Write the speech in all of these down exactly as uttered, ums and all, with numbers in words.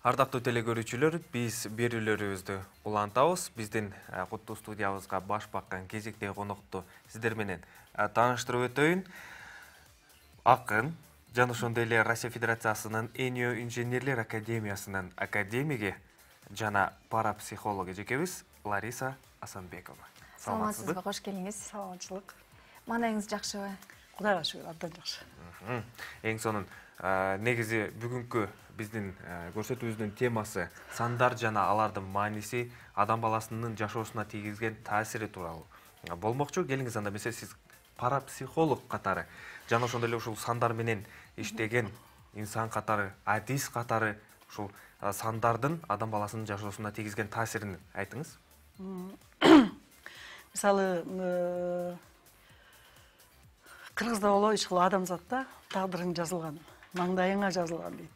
Ардактуу телекөрүүчүлөр, биз берүүлөрүбүздү улантабыз. Биздин куттуу студиябызга баш баккан кезектеги конокту сиздер менен тааныштырып өтөйүн. Акын жана ошондой эле Россия Федерациясынын Энио инженерлер академиясынын академиги жана парапсихолог эжекебиз Лариса Асанбекова. Саламатсызбы, кош келиңиз. Саламатчылык. Маанайыңыз жакшыбы? Кудайга шүгүр, абдан жакшы. Эң сонун негизи бүгүнкү биздин көрсөтүүбүздүн темасы сандар жана алардын мааниси, адам баласынын жашоосуна тийгизген таасири тууралуу болмокчу. Келиңиз анда эмесе сиз парапсихолог катары жана ошондой эле ушул сандар менен иштеген инсан катары, адис катары ушул сандардын адам баласынын жашоосуна тийгизген таасирин айтыңыз. Мисалы, кыргызда болобу ушул адамзатта тагдырың жазылган, маңдайыңа жазылган дейт.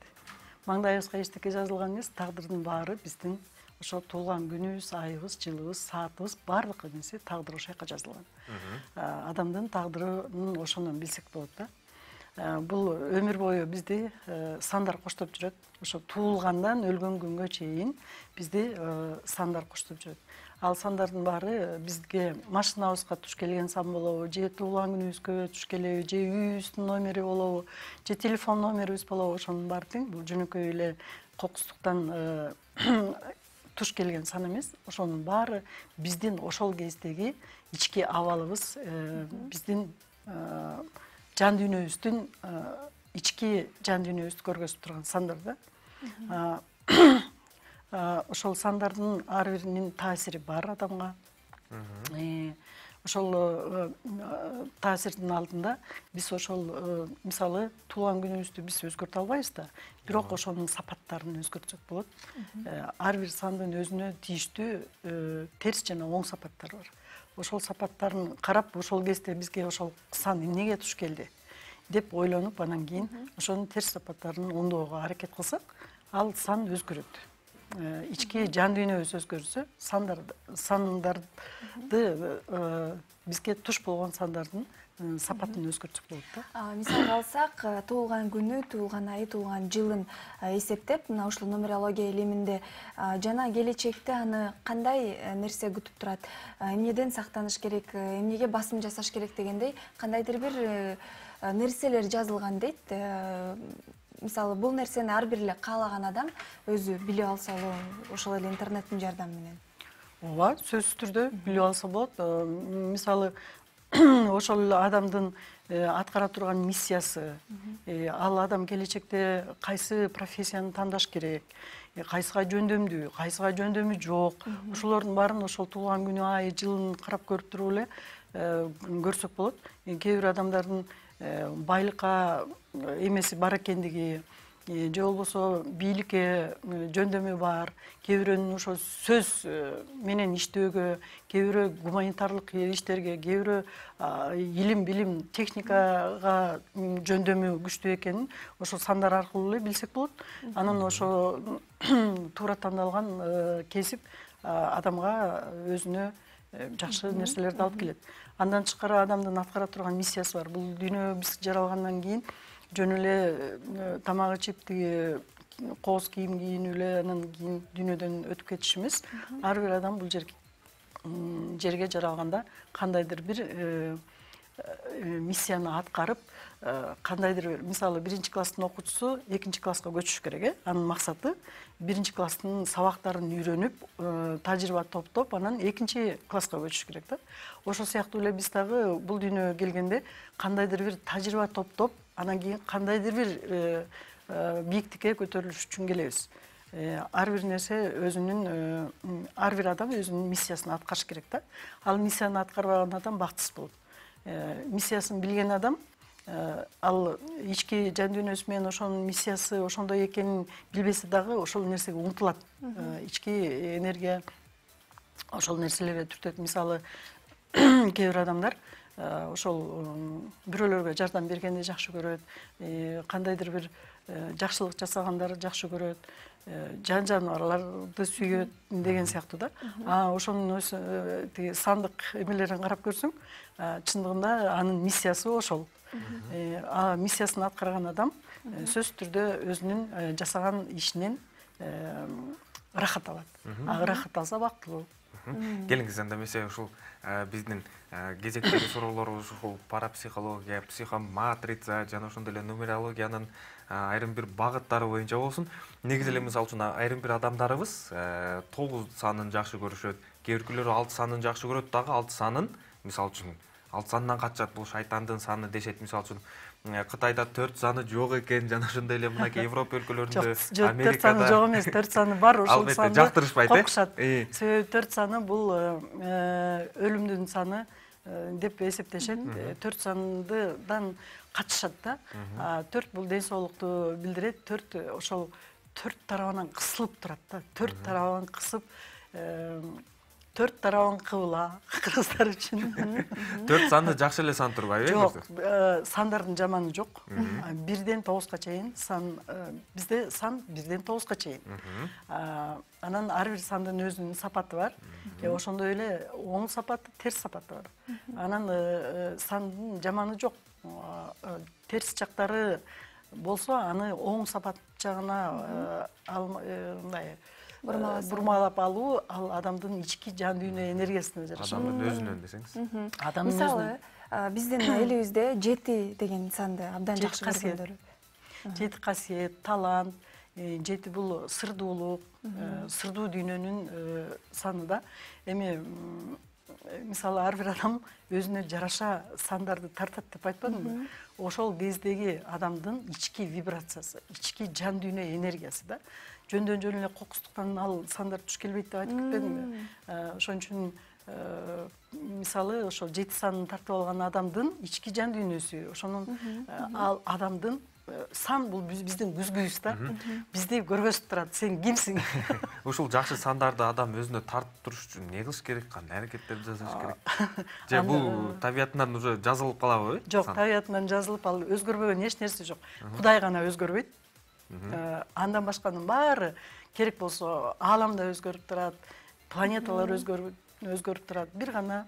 Маңдайыбызга эчтеке жазылган эмес, тагдырдын баары биздин ошо туулган күнүбүз, айыбыз, жылыбыз, саатыбыз баардык нерсе тагдыр ошол жака жазылган. Адамдын тагдырын ошондон билсек болот да. Бул өмүр бою бизди сандар коштоп жүрөт. Ошо туулгандан өлгөн күнгө чейин бизди сандар коштоп жүрөт. Ал сандардын баары бизге машинабызга туш келген сан болобу, же туулган күнүбүзгө туш келеби, же үйүбүздүн номери болобу, же телефон номерибиз болобу, ошонун баары тең. Бул жөнөкөй эле кокустуктан туш келген сан эмес. Ошонун баары биздин ошол кездеги ички абалыбыз, биздин жан дүйнөбүздүн ички жан дүйнөбүздү көргөзүп турган сандар да. Ошол сандардын ар биринин таасири бар адамга. Ошол таасирдин алдында биз ошол мисалы туулган күнүбүздү биз өзгөртө албайбыз да, бирок ошонун сапаттарын өзгөртсөк болот. Ар бир сандын өзүнө тийиштүү терс жана оң сапаттары бар. Ошол сапаттарын карап, ошол кезде бизге ошол сан эмнеге туш келди деп ойлонуп, анан кийин ошонун терс сапаттарын оңдоого аракет кылсак, ал сан өзгөрөт. Ички жан дүйнөбүз өзгөрсө, сандарды бизге туш болгон сандардын сапатын өзгөртсөк болот да. Мисалга алсак, туулган күнү, туулган айы, туулган жылын эсептеп, мына ушул нумерология илиминде жана келечекте аны кандай нерсе күтүп турат, эмнеден сактаныш керек, эмнеге басым жасаш керек дегендей кандайдыр бир нерселер жазылган дейт. Мисалы, бул нерсени ар бир эле каалаган адам өзү билип алса болот, ошол эле интернеттин жардамы менен. Ооба, сөзсүз түрдө билип алса болот. Мисалы, ошол адамдын аткара турган миссиясы, ал адам келечекте кайсы профессияны тандаш керек, кайсыга жөндөмдүү, кайсыга жөндөмү жок, ошолордун баарын ошол туулган күнү, ай, жылын карап көрүп туруп эле көрсөк болот. Кээ бир адамдардын байлыкка эмеси бар экендиги, же болбосо бийликке жөндөмү бар, кээ бирөөнүн ошо сөз менен иштөөгө, кээ бирөө гуманитарлык иштерге, кээ бирөө илим, билим, техникага жөндөмү күчтүү экенин ошол сандар аркылуу эле билсек болот. Анан ошо туура тандалган кесип адамга өзүнө жакшы нерселерди алып келет. Андан тышкары адамдын аткара турган миссиясы бар. Бул дүйнө биз жаралгандан кийин жөн эле тамак ичип, тиги кооз кийим кийинип эле анан кийин дүйнөдөн өтүп кетиш эмес. Ар бир адам бул жерге жаралганда кандайдыр бир миссияны аткарып, кандайдыр бир, мисалы, биринчи класстын окуучусу экинчи класска көчүш керек, э? Анын максаты биринчи класстын сабактарын үйрөнүп, тажрыйба топтоп, анан экинчи класска көчүш керек да. Ошол сыяктуу эле биз дагы бул дүйнөгө келгенде кандайдыр бир тажрыйба топтоп, анан кийин кандайдыр бир бийиктикке көтөрүлүш үчүн келебиз. Ар бир нерсе өзүнүн, ар бир адам өзүнүн миссиясын аткарыш керек да. Ал миссияны аткарбаган адам бактысыз болот. Миссиясын билген адам, ал ички жан дүйнөсү менен ошонун миссиясы ошондой экенин билбесе дагы ошол нерсеге умтулат. Ички энергия ошол нерселерге түртөт. Мисалы, кээ бир адамдар ошол бирөөлөргө жардам бергенди жакшы көрөт, кандайдыр бир жакшылык жасагандарды жакшы көрөт, жан жаныбарларды сүйөт деген сыяктуу да. Ошонун өзү тиги сандык эмелерин карап көрсөң, чындыгында анын миссиясы ошол. Миссиясын аткарган адам сөзсүз түрдө өзүнүн жасаган ишинен ырахат алат. А ырахат алса бактылуу. Келиңиз анда эмесе ушул биздин кезектеги суроолорубуз ушул парапсихология, психоматрица жана ошондой эле нумерологиянын айрым бир багыттары боюнча болсун. Негизи эле мисалы үчүн айрым бир адамдарыбыз тогуз санын жакшы көрүшөт, кээ биркүлөр алты санын жакшы көрөт дагы алты санын мисалы үчүн алты сандан качат, бул шайтандын саны дешет. Мисалы үчүн Кытайда төрт саны жок экен, жана ошондой эле мынакей Европа өлкөлөрүндө, Америкада төрт саны жок эмес, төрт саны бар, ошол санды албетте жактырышпайт, коркушат. Себеби төрт саны бул өлүмдүн саны деп эсептешет. төрт сандан качышат да. төрт бул ден соолукту билдирет. төрт ошол төрт тарабынан кысылып турат да. төрт тарабынан кысып, төрт тарабын кыбыла кыргыздар үчүн. төрт санды жакшы эле сан турбайбы? Жок, сандардын жаманы жок. бирден тогузга чейин сан, бизде сан бирден тогузга чейин. Анан ар бир сандын өзүнүн сапаты бар. Ошондой эле оң сапаты, терс сапаты бар. Анан сандын жаманы жок. Терс жактары болсо, аны оң сапат жагына мындай бурмалап алуу, ал адамдын ички жан дүйнө энергиясына жараша. Адамдын өзүнөн десеңиз. Мисалы, биздин элибизде жети деген санды абдан жакшы көргөндөр. Жети касиет, талант, жети бул сырдуулук, сырдуу дүйнөнүн саны да. Эми мисалы ар бир адам өзүнө жараша сандарды тартат деп айтпадымбы? Ошол кездеги адамдын ички вибрациясы, ички жан дүйнө энергиясы да. Жөндөн жөн эле кокустуктан ал сандар туш келбейт деп айтып кетпедимби? Ошон үчүн мисалы ошол жети санын тартып алган адамдын ички жан дүйнөсү, ошонун ал адамдын сан бул биздин күзгүбүз да. Бизди көргөзүп турат. Сен кимсиң? Ушул жакшы сандарды адам өзүнө тартып туруш үчүн эмне кылыш керек? Кандай аракеттерди жасаш керек? Же бул табиятынан уже жазылып калабы? Жок, табиятынан жазылып, ал өзгөрбөгөн эч нерсе жок. Кудай гана өзгөрбөйт. Андан башканын баары керек болсо ааламда өзгөрүп турат, планеталар өзгөрүп турат. Бир гана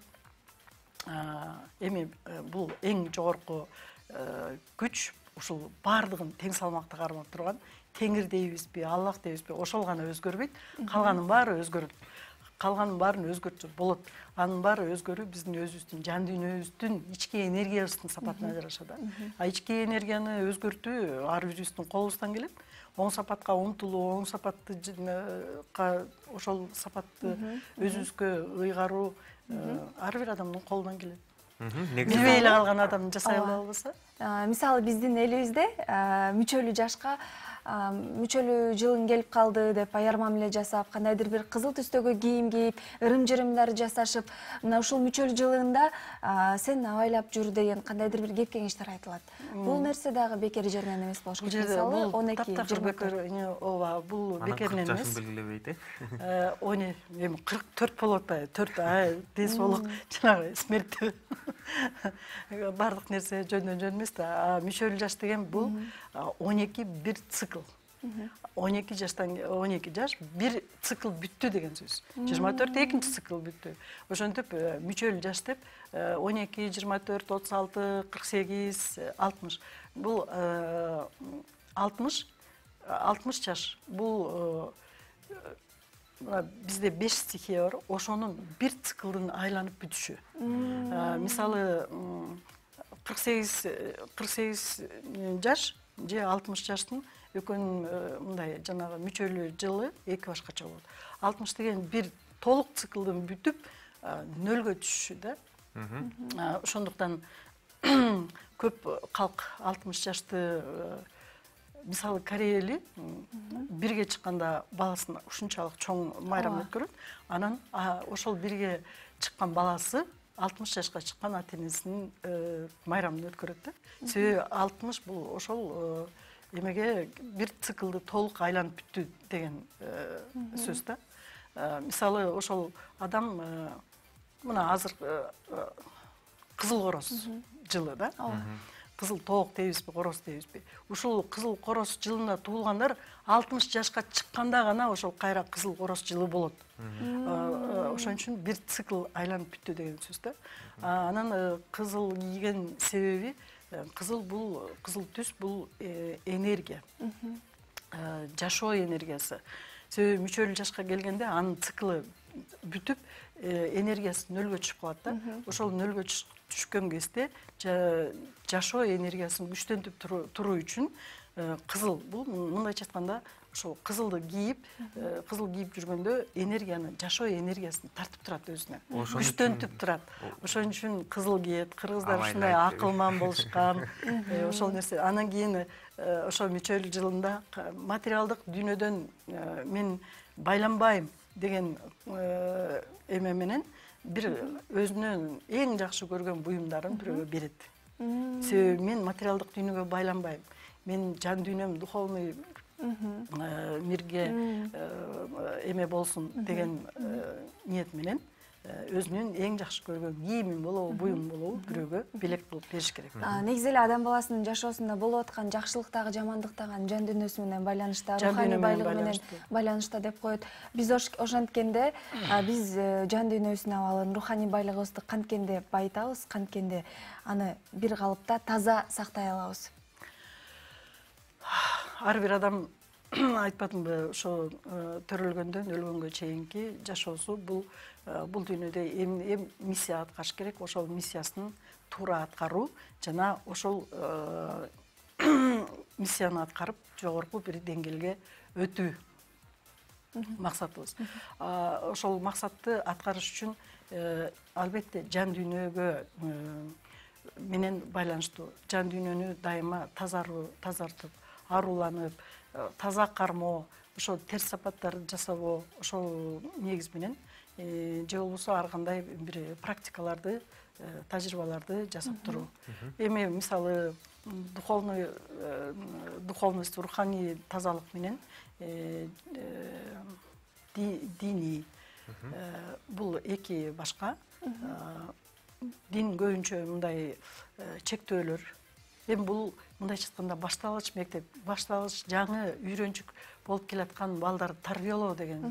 эми бул эң жогорку күч, ушул баардыгын тең салмакта кармап турган Теңир дейбизби, Аллах дейбизби, ошол гана өзгөрбөйт. Калганын баары өзгөрөт. Калганын баарын өзгөртүп болот. Анын баары өзгөрүү биздин өзүбүздүн жан дүйнөбүздүн ички энергиябыздын сапатына жараша да. А ички энергияны өзгөртүү ар бирибиздин колубуздан келет. Оң сапатка умтулуу, оң сапатты ошол сапатты өзүбүзгө ыйгаруу ар бир адамдын колунан келет. Билбей эле калган адам жасай албаса? Мисалы биздин элибизде мүчөлүү жашка мүчөлүү жылың келип калды деп аяр мамиле жасап, кандайдыр бир кызыл түстөгү кийим кийип, ырым-жырымдар жасашып, мына ушул мүчөлүү жылыңда сен абайлап жүр деген кандайдыр бир кеп кеңештер айтылат. Бул нерсе дагы бекер жеринен эмес болуш керек. Мисалы он эки жыйырма төрт. Ооба, бул бекеринен эмес. кырк жашын белгилебейт, э? он эми кырк төрт болот да, төрт ай ден соолук жанагы смерттүү. Бардык нерсе жөндөн жөн эмес да. Мүчөлүү жаш деген бул он эки бир цикл. он эки жаштан он эки жаш бир цикл бүттү деген сөз. жыйырма төрт экинчи цикл бүттү. Ошентип мүчөлүү жаш деп он эки, жыйырма төрт, отуз алты, кырк сегиз, алтымыш. Бул алтымыш алтымыш жаш. Бул бизде беш стихия бар. Ошонун бир циклдын айланып бүтүшү. Мисалы кырк сегиз кырк сегиз жаш же алтымыш жаштын экөөнүн мындай жанагы мүчөлүү жылы эки башкача болот. алтымыш деген бир толук циклдын бүтүп нөлгө түшүшү да. Ошондуктан көп калк алтымыш жашты мисалы Корея эли бирге чыкканда баласын ушунчалык чоң майрам өткөрөт. Анан ошол бирге чыккан баласы алтымыш жашка чыккан ата энесинин майрамын өткөрөт да. Себеби алтымыш бул ошол эмеге бир циклды толук айланып бүттү деген сөз да. Мисалы ошол адам мына азыр кызыл короз жылы да. Кызыл тоок дейбизби, короз дейбизби? Ушул кызыл короз жылына туулгандар алтымыш жашка чыкканда гана ошол кайра кызыл короз жылы болот. Ошон үчүн бир цикл айланып бүттү деген сөз да. Анан кызыл кийген себеби кызыл бул кызыл түс бул энергия. жашоо энергиясы. Себеби мүчөлүү жашка келгенде анын циклы бүтүп, энергиясы нөлгө түшүп калат да. Ошол нөлгө түшкөн кезде жашоо энергиясын күчтөнтүп туруу үчүн кызыл, бул мындайча айтканда ошол кызылды кийип, кызыл кийип жүргөндө энергияны, жашоо энергиясын тартып турат өзүнө. Күчтөнтүп турат. Ошон үчүн кызыл кийет. Кыргыздар ушундай акылман болушкан. Ошол нерсе. Анан кийин ошол мүчөлүү жылында материалдык дүйнөдөн мен байланбайм деген эме менен бир өзүнүн эң жакшы көргөн буюмдарын бирөөгө берет. Себеби мен материалдык дүйнөгө байланбайм. Мен жан дүйнөм духовный мирге эме болсун деген ниет менен өзүнүн эң жакшы көргөн кийимин болобу, буюмун болобу бирөөгө белек кылып бериш керек. Негизи эле адам баласынын жашоосунда болуп аткан жакшылыктагы, жамандыктагы жан дүйнөсү менен байланышта, руханий байлыгы менен байланышта деп коет. Биз ошенткенде биз жан дүйнөбүздүн абалын, руханий байлыгыбызды канткенде байытабыз, канткенде аны бир калыпта таза сактай алабыз. Ар бир адам айтпадымбы, ошо төрөлгөндөн өлгөнгө чейинки жашоосу бул бул дүйнөдө эм миссия аткарыш керек. Ошол миссиясын туура аткаруу жана ошол миссияны аткарып жогорку бир деңгээлге өтүү максатыбыз. Ошол максатты аткарыш үчүн албетте жан дүйнөгө менен байланыштуу. Жан дүйнөнү дайыма тазартып, аруланып, таза кармоо, ошол терс сапаттарды жасабоо, ошол негиз менен же болбосо ар кандай бир практикаларды, тажрыйбаларды жасап туруу. Эми мисалы духовный духовность, руханий тазалык менен диний бул эки башка. Дин көбүнчө мындай чектөөлөр. Эми бул мындайча айтканда башталгыч мектеп, башталгыч жаңы үйрөнчүк болуп келаткан балдарды тарбиялоо деген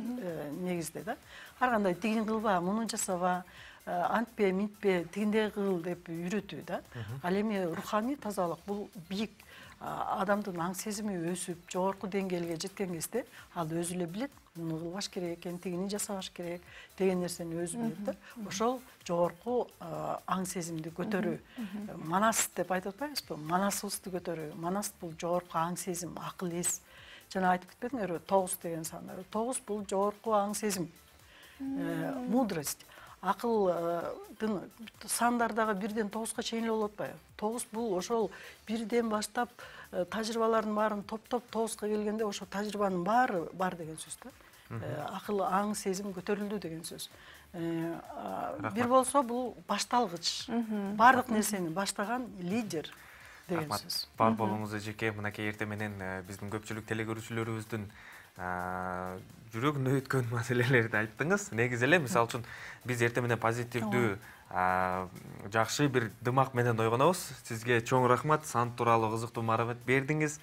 негизде да. Ар кандай тигин кылба, муну жасаба, антпе, минтпе, тигиндей кыл деп үйрөтүү да. Ал эми руханий тазалык бул бийик адамдын аң сезими өсүп, жогорку деңгээлге жеткен кезде ал өзү эле билет, муну кылбаш керек экен, тигини жасабаш керек деген нерсени өзү билет да. Ошол жогорку аң сезимди көтөрүү. Манас деп айтып атпайбызбы? Манасыбызды көтөрүү. Манас бул жогорку аң сезим, акыл эс. Жана айтып кетпедиңерби, тогуз деген сандар. тогуз бул жогорку аң сезим, мудрость. Акылдын сандар дагы бирден тогузга чейин эле болуп атпайбы? тогуз бул ошол бирден баштап тажрыйбалардын баарын топтоп тогузга келгенде ошо тажрыйбанын баары бар деген сөз да. Акыл, аң, сезим көтөрүлдү деген сөз. Бир болсо бул башталгыч. Бардык нерсени баштаган лидер деген сөз. Бар болуңуз эжеке, мынакей эртең менен биздин көпчүлүк телекөрүүчүлөрүбүздүн жүрөгүнө өткөн маселелерди айттыңыз. Негизи эле мисалы үчүн биз эртең менен позитивдүү, жакшы бир дымак менен ойгонобуз. Сизге чоң рахмат, сант тууралуу кызыктуу маалымат бердиңиз.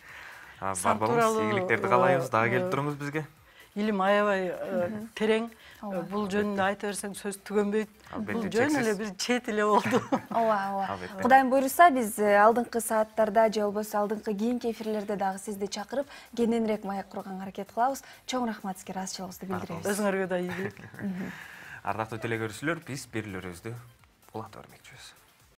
Бар болуңуз, ийгиликтерди каалайбыз. Дагы келип туруңуз бизге. Илим аябай терең. Бул жөнүндө айта берсең сөз түгөнбөйт. Бул жөн эле бир чет эле болду. Ооба, ооба. Кудайым буйруса, биз алдыңкы сааттарда же болбосо алдыңкы кийинки эфирлерде дагы сизди чакырып, кененирээк маек курганга аракет кылабыз. Чоң рахмат сизге, ыраазычылыгыбызды билдиребиз. Өзүңөргө да ийгилик. Ардактуу телекөрүүчүлөр, биз берүүлөрүбүздү улантып бермекчибиз.